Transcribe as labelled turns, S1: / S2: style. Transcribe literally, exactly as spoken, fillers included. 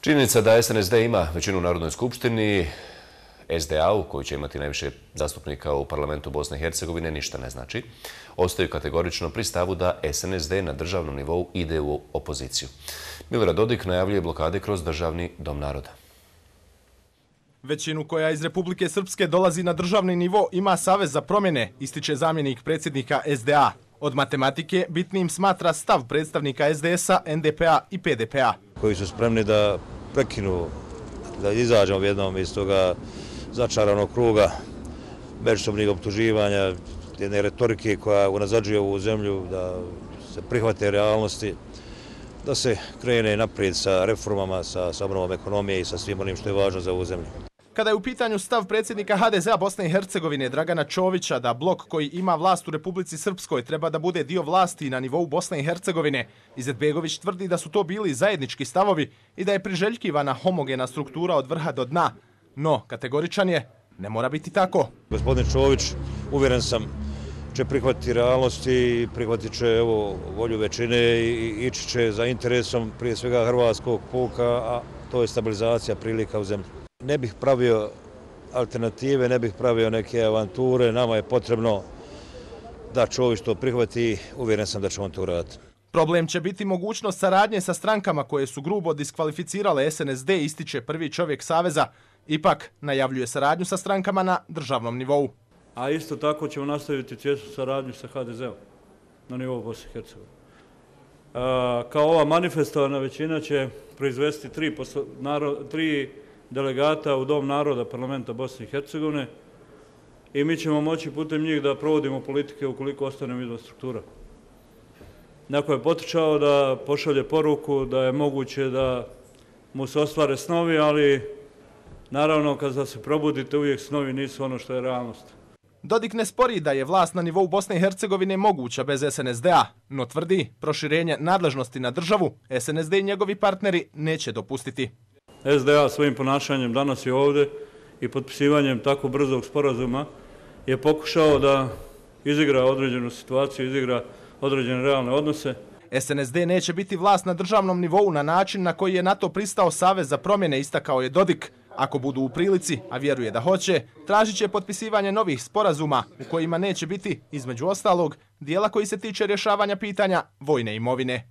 S1: Činjenica da es en es de ima većinu u Narodnoj skupštini, es de a u koji će imati najviše zastupnika u parlamentu Bosne i Hercegovine, ništa ne znači. Ostaju kategorično pri stavu da es en es de na državnom nivou ide u opoziciju. Milorad Dodik najavljuje blokade kroz Državni dom naroda.
S2: Većinu koja iz Republike Srpske dolazi na državni nivo ima Savez za promjene, ističe zamjenik predsjednika es de a. Od matematike bitnim smatra stav predstavnika es de es a, en de pe a i pe de pe a.
S3: Koji su spremni da prekinu, da izađemo jednom iz toga začaranog kruga međusobnih optuživanja, jedne retorike koja unazađuje ovu zemlju, da se prihvate realnosti, da se krene naprijed sa reformama, sa obnovom ekonomije i sa svim onim što je važno za ovu zemlju.
S2: Kada je u pitanju stav predsjednika ha de ze a Bosne i Hercegovine Dragana Čovića da blok koji ima vlast u Republici Srpskoj treba da bude dio vlasti na nivou Bosne i Hercegovine, Izetbegović tvrdi da su to bili zajednički stavovi i da je priželjkivana homogena struktura od vrha do dna. No, kategoričan je, ne mora biti tako.
S3: Gospodin Čović, uvjeren sam, će prihvatiti realnosti i prihvatit će evo, volju većine i ići će za interesom prije svega hrvatskog puka, a to je stabilizacija prilika u zemlji. Ne bih pravio alternative, ne bih pravio neke avanture, nama je potrebno da Čović to prihvati, uvjeren sam da će on to uraditi.
S2: Problem će biti mogućnost saradnje sa strankama koje su grubo diskvalificirale es en es de, ističe prvi čovjek Saveza. Ipak najavljuje saradnju sa strankama na državnom nivou.
S4: A isto tako ćemo nastaviti tijesnu saradnju sa ha de ze om na nivou Bosne i Hercegovine. Kao ova manifestovana većina će proizvesti tri, poslo, narod, tri delegata u Dom naroda parlamenta Bosne i Hercegovine i mi ćemo moći putem njih da provodimo politike ukoliko ostanemo izvan struktura. Neko je potičao da pošalje poruku da je moguće da mu se ostvare snovi, ali naravno kada se probudite uvijek snovi nisu ono što je realnost.
S2: Dodik ne spori da je vlast na nivou Bosne i Hercegovine moguća bez es en es de a, no tvrdi proširenje nadležnosti na državu es en es de i njegovi partneri neće dopustiti.
S4: es de a svojim ponašanjem danas je ovdje i potpisivanjem tako brzog sporazuma je pokušao da izigra određenu situaciju, izigra određene realne odnose.
S2: es en es de neće biti vlast na državnom nivou na način na koji je na to pristao Savez za promjene, istakao je Dodik. Ako budu u prilici, a vjeruje da hoće, tražit će potpisivanje novih sporazuma u kojima neće biti, između ostalog, dijela koji se tiče rješavanja pitanja vojne imovine.